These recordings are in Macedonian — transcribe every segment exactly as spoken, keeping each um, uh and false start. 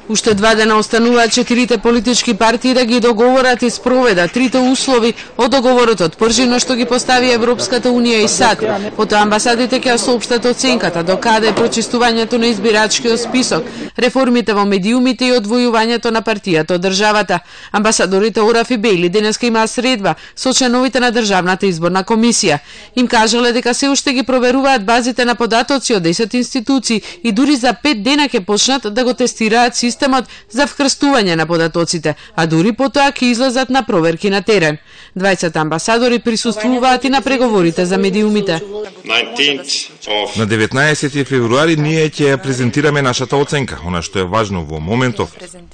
Уште два дена остануваат четирите политички партии да ги договорат и спроведат трите услови од договорот од Пржино што ги постави Европската унија и САД. Потоа амбасадите ќе соопштат оценката до каде е прочистувањето на избирачкиот список, реформите во медиумите и одвојувањето на партијата од државата. Амбасадорите Ораф и Бејли денеска имаат средба со членовите на Државната изборна комисија. Им кажале дека се уште ги проверуваат базите на податоци од десет институции и дури за пет дена ќе почнат да го тестираат системот за вкрстување на податоците, а дури потоа ќе излезат на проверки на терен. дваесет амбасадори присуствуваат и на преговорите за медиумите. На деветнаесети февруари ние ќе ја презентираме нашата оценка. Она што е важно во моментов,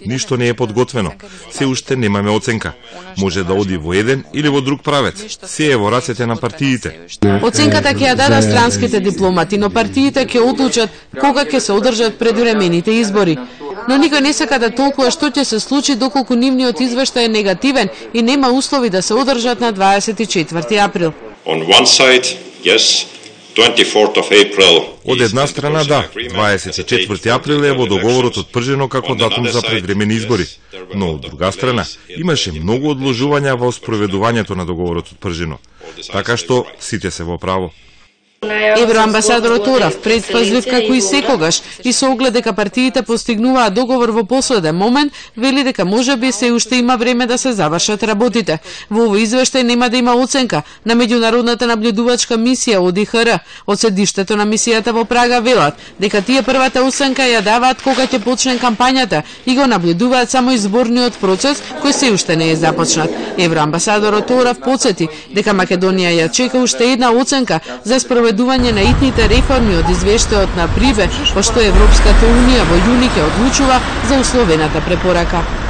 ништо не е подготвено. Се уште немаме оценка. Може да оди во еден или во друг правец. Се е во рацете на партиите. Оценката ќе ја дадат странските дипломати, но партиите ќе одлучат кога ќе се одржат предвремените избори. Но никој не сака да толкува што ќе се случи доколку нивниот извештај е негативен и нема услови да се одржат на дваесет и четврти април. Од една страна да, дваесет и четврти април е во договорот од Пржино како датум за предвремени избори, но од друга страна имаше многу одложувања во спроведувањето на договорот од Пржино, така што сите се во право. Евроамбасадорот Ораф предпазлив како и секогаш и со оглед дека партиите постигнуваат договор во последен момент, вели дека можеби се уште има време да се завршат работите. Во овој извештај нема да има оценка на меѓународната наблюдувачка мисија О Д Х Р. Од седиштето на мисијата во Прага велат дека тие првата оценка ја даваат кога ќе почне кампањата и го наблюдуваат само изборниот процес кој се уште не е започнат. Евроамбасадорот Ораф потсети дека Македонија ја чека уште една оценка за спроведување на итните реформи од извештајот на Приве, пошто Европската унија во јуни ќе одлучува за условената препорака.